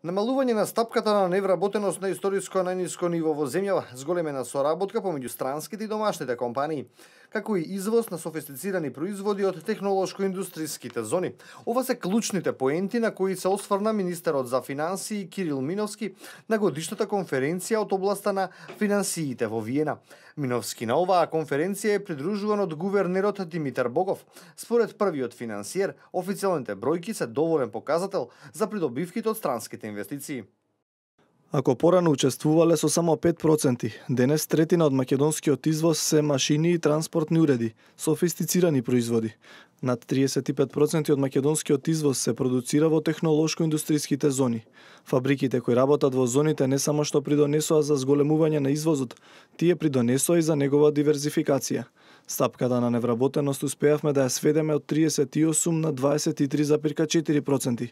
Намалување на стапката на невработеност на историско најниско ниво во земјава, зголемена соработка помеѓу странските и домашните компании, како и извоз на софистицирани производи од технолошко-индустриските зони. Ова се клучните поенти на кои се осврна министерот за финансии Кирил Миновски на годишната конференција од областа на финансиите во Виена. Миновски на оваа конференција е придружуван од гувернерот Димитар Богов. Според првиот финансиер, официјалните бројки се доволен показател за придобивките од странските инвестиции. Ако порано учествувале со само 5%, денес третина од македонскиот извоз се машини и транспортни уреди, софистицирани производи. Над 35% од македонскиот извоз се продуцира во технолошко-индустриските зони. Фабриките кои работат во зоните не само што придонесоа за зголемување на извозот, тие придонесоа и за негова диверзификација. Стапката на невработеност успеавме да ја сведеме од 38 на 23,4%.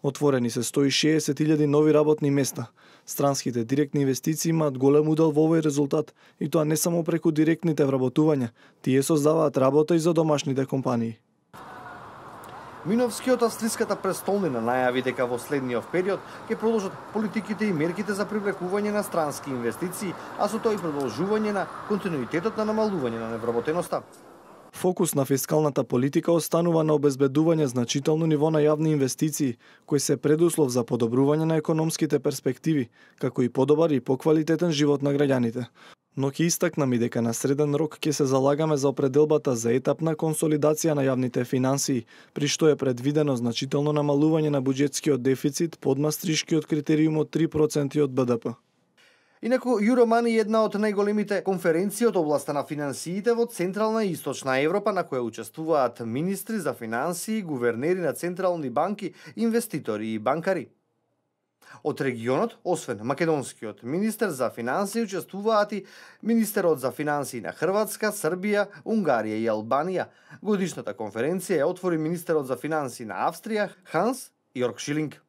Отворени се 160.000 нови работни места. Странските директни инвестиции имаат голем удел во овој резултат, и тоа не само преку директните вработувања, тие создаваат работа и за домашните компании. Миновски од австриската престолнина најави дека во следниот период ќе продолжат политиките и мерките за привлекување на странски инвестиции, а со тоа и продолжување на континуитетот на намалување на невработеноста. Фокус на фискалната политика останува на обезбедување значително ниво на јавни инвестиции, кои се предуслов за подобрување на економските перспективи, како и подобар и поквалитетен живот на граѓаните. Но ќе истакнам и дека на среден рок ќе се залагаме за определбата за етапна консолидација на јавните финансии, при што е предвидено значително намалување на буџетскиот дефицит под мастришкиот критериум од 3% од БДП. Инаку, Юромани е една од најголемите конференции од областа на финансиите во Централна и Источна Европа, на која учествуваат министри за финансии, гувернери на централни банки, инвеститори и банкари. Од регионот, освен македонскиот министер за финансии, учествуваат и министерот за финансии на Хрватска, Србија, Унгарија и Албанија. Годишната конференција ја отвори министерот за финансии на Австрија, Ханс Йорк Шилинг.